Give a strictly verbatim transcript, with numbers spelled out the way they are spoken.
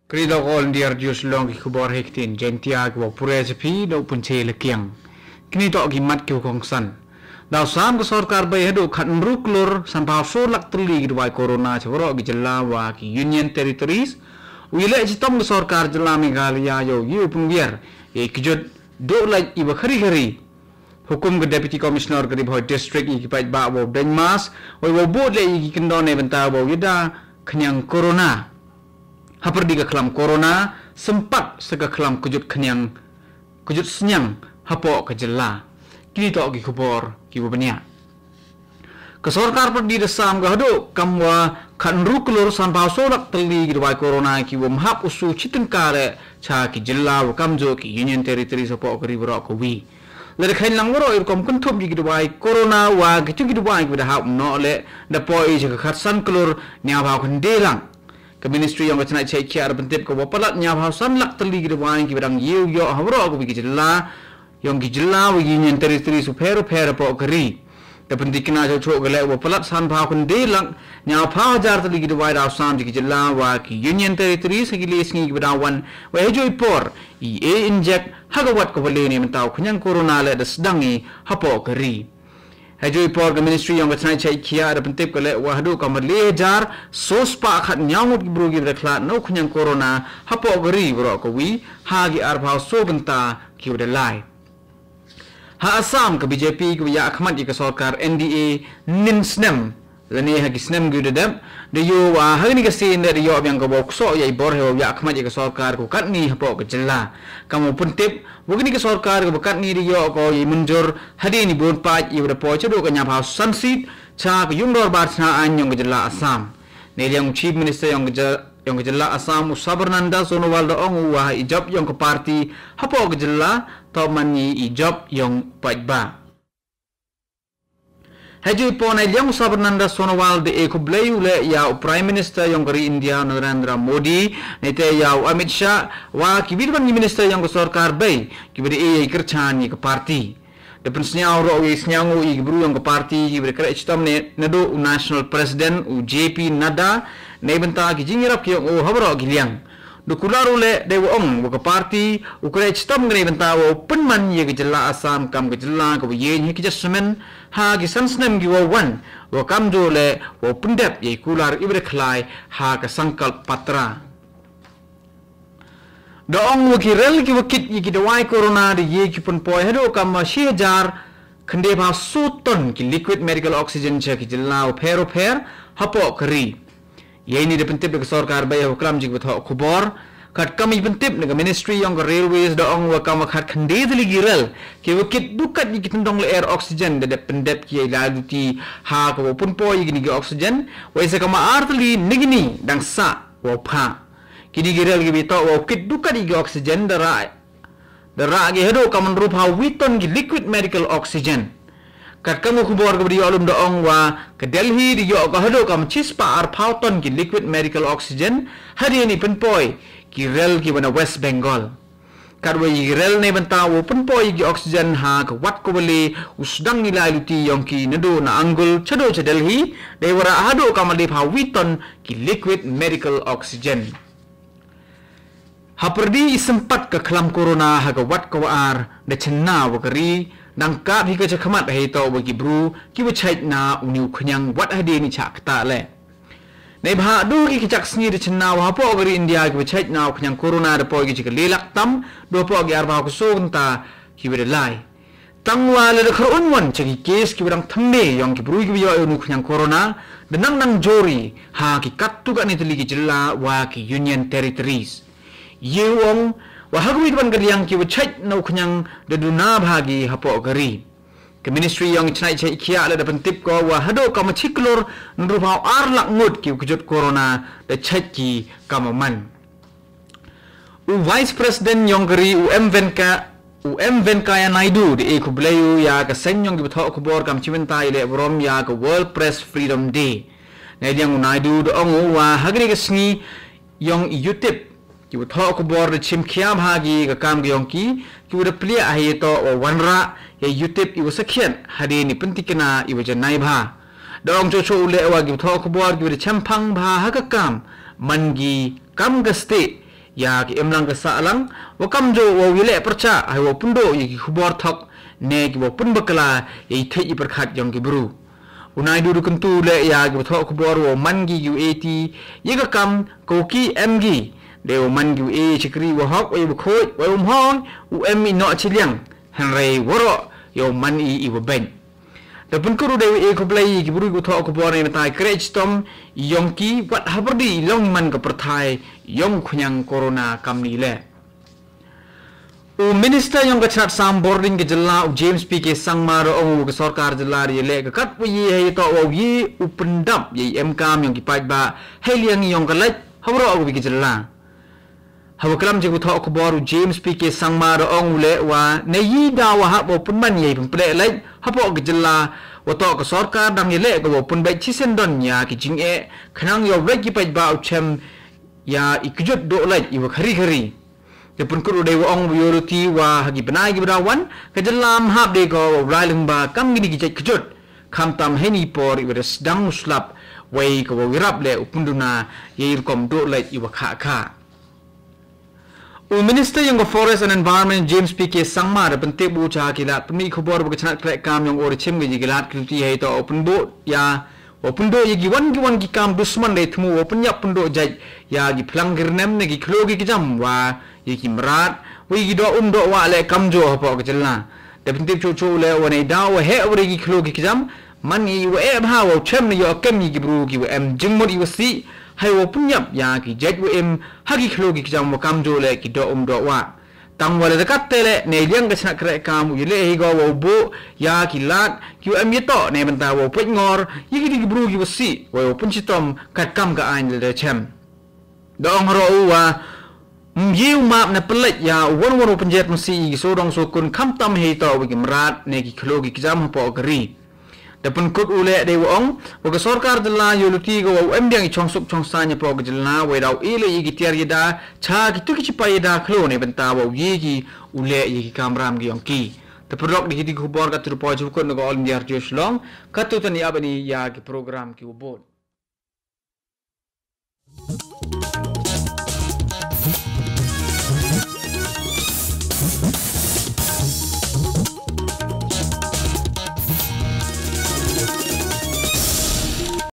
Kri Lok All India Radio Shillong, ki khubor ha ktien Jaiñtia kiwa pule sha phi da u Pynche Lakiang. Kine toh ki mat kiwa kongsan. Da u sam ka sorkar bei haduh khatynru klur sanphaw soo lak tylli ki dawai corona cha waroh ki jylla wa ki Union Territories. U yaleh chitom ka sorkar jylla Meghalaya yow yow pynwiar yei kjut duh lait iwa khari khari. Hukum ka Deputy Commissioner ka Ri Bhoi District yei ki paidbah wow deng mask, wei wow bud leh yei ki kyndon neibynta wow yada khñiang corona. Hapyrdi ka khlam corona, sympat sa ka khlam kjut khñiang, kjut sñiang hapoh ka jylla. Kini toh ki khubor kiwa bniah. Ka sorkar pyrdi da sam ka haduh kamwa khatynru klur sanphaw soo lak tylli ki dawai corona kiwa ym hap u soo chityngka leh cha ki jylla wa kamjooh ki Union Territories hapoh ka ri waroh kawi. Lada kheiñ lang waroh i rukom kynthup yei ki dawai corona wa kitu ki dawai kiwa da hap noh leh, da poi cha ka khatsan klur hynñiawphaw khyndai lak. Ka Ministry yong ka chnat chait khiah da pyntip ka wa palat hynñiawphaw san lak tylli ki dawai kiwa dang yow yoh ha waroh kawi ki jylla, yong ki jylla wa Union Territories u pher u pher hapoh ka ri. Da pyntikna chooh chooh ka leh wa palat sanphaw khyndai lak hynñiawphaw hajar tylli ki dawai da u sam cha ki jylla wa ki Union Territories ha ki lai sngi kiwa da wan, wei hajooh i por i e injek ha ka wat kawa le neibynta u khñiang corona leh da sdang i hapoh ka ri. Hajooh i por ka Ministry yong ka chnat chait khiah da pyntip ka leh wa haduh kamwa le hajar soo spah khathynñiaw ngut ki bru kiwa da khlad na u khñiang corona hapoh ka ri waroh kawi ha ki arphaw soo kynta kiwa da lai. Ha Assam ka B J P kiwa yahkhmat ya ka sorkar N D A nin snem, lane ha ki snem kiwa da dep, da yoh wa ha kani ka sien da yoh biang ka wow ksoh ya i bor ha wow yahkhmat ya ka sorkar kawa katni hapoh ka jylla. Kamwa pyntip wa kani ka sorkar kawa katni da yoh ko yei mynjur hadien i bun paid iwa da poi cha duh ka hynñiawphaw san seat cha ka yung dorbar chna aiñ yong ka jylla Assam. Neiliang u Chief Minister yong ka jylla Assam u Sarbananda Sonowal da ong u wa i jop yong ka party hapoh ka jylla toh man i jop yong paidbah. Hajooh i por neiliang u Sarbananda Sonowal da e khublei u leh ya u Prime Minister yong ka ri India Narendra Modi, neite ya u Amit Shah wa kiwi kiwon ki minister yong ka sorkar bei kiwa da e yei kyrchaan ya ka party. Da pynsñiaw roh u yei sñiawngooh ya ki bru yong ka party kiwa da kreh chitom ne naduh u National President u J P Nadda neibynta ki jingyarap ki yong u ha waroh ki liang. Da kular u leh deiwa ong wa ka party u kreh chitom ka neibynta wow pynman ya ka jylla Assam kam ka jylla kawa yieñ ha ki jait snem, ha ki san snem kiwa wan, wa kamjooh leh wow pyndep yei kular iwa da khlai ha ka Sankalp Patra. Da ong wa ki rel kiwa kit ya ki dawai corona da ye ki pynpoi haduh kamwa shi hajar khyndai phaw soo ton ki liquid medical oxygen cha ki jylla u pher u pher hapoh ka ri. Yeini da pyntip da ka sorkar bei ha u klam jingpynthoh khubor. Katkam i pyntip na ka Ministry yong ka Railways da ong wa kamwa khatkhyndai tylli ki rel kiwa kit dukkat ya ki tyndong lyer oxygen da dep pyndep ki yei lai luti ha ka wow pynpoi ya kini ki oxygen, wei sa kamwa ar tylli na kini dang sah wow phah. Kini ki rel kiwa toh wow kit dukkat ya ki oxygen da rah da rah ki haduh kamwa ynru phaw wi ton ki liquid medical oxygen. Katkam ka khubor kawa da yoh lum da ong wa ka Delhi da yoh ka haduh kamwa chispah arphaw ton ki liquid medical oxygen hadien i pynpoi ki rel kiwa na West Bengal. Katwa i rel neibynta wow pynpoi ki oxygen ha ka wat kawa le u sdang i lai luti yong ki naduh na Angul chaduh cha Delhi, deiwa rah haduh kamwa le phaw wi ton ki liquid medical oxygen. Hapyrdi i sympat ka khlam corona ha ka wat kawa ar, da chynna wa ka ri dang kap hi ka chakhmat heitoh wa ki bru kiwa chait na uni u khñiang wat hadien i chah ktah leh. Neibhah duh ki kjak sngi da chynna wa hapoh ka ri India kiwa chait na u khñiang corona da poi ki cha ka le lak tam, da hapoh ki arphaw ka soo kynta kiwa da lai. Tangwa lada kyrwon won cha ki case kiwa dang thymme yong ki bru kiwa yoh ya uni u khñiang corona, da nang nang jur i ha ki katto katne tylli ki jylla wa ki Union Territories. Ye u ong wa ha kawi kawan ka liang kiwa chait na u khñiang da duna bha ki hapoh ka ri. Ka Ministry yong ka chnat chait khiah leh da pyntip ko wa haduh kamwa chi klur ynru phaw ar lak ngut kiwa kjut corona da chait ki kamwa man. U Vice President yong ka ri u M Venka-, u M Venkaiah Naidu da e khublei u ya ka seng yong ki pathoh khubor kam chibynta i leh burom ya ka World Press Freedom Day. Neiliang u Naidu da ong u wa ha kane ka sngi yong i YouTube, ki pathoh khubor da chim khia bha ki ka kam ka yong ki, kiwa da pliah ha ito wa wanrah ya i YouTube iwa sakhiat hadien i pyntikna iwa janai bha. Da ong choh choh u leh wa ki pathoh khubor kiwa da chemphang bha ha ka kam man ki kam ka stieh ïa ki imlang ka sahlang, wa kamjooh wow ïaleh pyrshah, hei wow pynduh ïa ki khubor thok, ne ki wow pynbakla ïa i thik i pyrkhat yong ki bru. U Naidu da kyntu leh ïa ki pathok khubor wow man ki ki u ïa ka kam, ka u ki em ki. Dei wow man ki u ïa shakri wa hok, wa ïa bakhuid, wa ïa umhong, u em i noh chiliang. Hynrei waroh ïa u man i i wa beng. Da pynkut u dei wa ïa khublei ïa ki bru ki pathok khubor ne mynta i kreh chitom yong ki wat hapyrdi i long i man ka pyrthai yong u khñiang corona kamni leh. U Minister yong ka chnat sam bording ka jylla u James P K Sangma da ong u ka sorkar jylla da ïaleh ka kat wa ïa hei toh wa ïa u pyndap ïa i em kam yong ki paidbah hei liang yong ka leit ha waroh wa ki jylla. Hawa klam jong u pathok khubor u James P K Sangma da ong u leh wa ne ïa da wa hap wa pynman ïa i pynpleh leit hapoh ka jylla wa toh ka sorkar dang ïaleh ka wa pynbeit chisien don ïa ki jingeh khnang ïa u leit ki paidbah u chem ïa i kjut doh leit i wa khari khari. Da pynkut u dei wa ong u ïa u luti wa ha ki bnai ki bnai wan ka jylla ym hap dei ko wa u lai lyngba kam kini ki jait kjut. Khamtam heini por i wa da sdang u slap wei ka wa u ïarap leh u pynduna ïa i rukom doh leit i wa kha kha. U Minister yong ka Forest and Environment James P K Sangma da pyntip u cha ki lad pynmih khubor wa ka chnat kreh kam yong u da chim ka ïa ki lad ki luti hei toh u pynbuh ïa wa pynduh ïa ki wan ki wan ki kam dusman dei thmu wa pynïap pynduh jait ïa ki phlang ki rnem ne ki khloo ki kjam wa ïa ki mrad wa ïa ki doh um doh wah leh kamjooh hapoh ka jylla. Da pyntip chuh chuh leh wa ne da wa heh wa ri ki khloo ki kjam man ïa wa eh bha wa u chem ne ïa kem ïa ki bru ki wa em jingmut ïa wa sih hei wa pynïap ïa ki jait wa im ha ki khloo ki kjam wa kamjooh leh ki doh um doh wah. Tang wa la da kat te leh ne liang ka chnat kreh kam u ïaleh hi go wa u buh ïa ki lad ki wa em ïa toh ne bynta wa u peit ngor ïa ki dei ki bru ki wa sih wa u pynshitom kat kam ka aiñ la da chem. Da ong haroh u wa ym ïa u map ne pynleit ïa u wan wan u pynjet masi ïa ki sodong sokun khamtam hei toh wa ki mrad ne ki khloo ki kjam hapoh ka ri. Da pynkut u leh dei wa ong wa ka sorkar jylla ïa u luti ka wa u em biang i chong suk chong saiñ hapoh ka jylla wa i daw i leh ïa ki tiar ïa da cha ki tu ki chipai ïa da khloo ne bynta wa u ïa ki u leh ïa ki kamram ki yong ki. Da pyrlok da ki ti khubor ka tu poi chukut na ka All India Radio Shillong ka tu tani abani ïa ki program ki wa bud.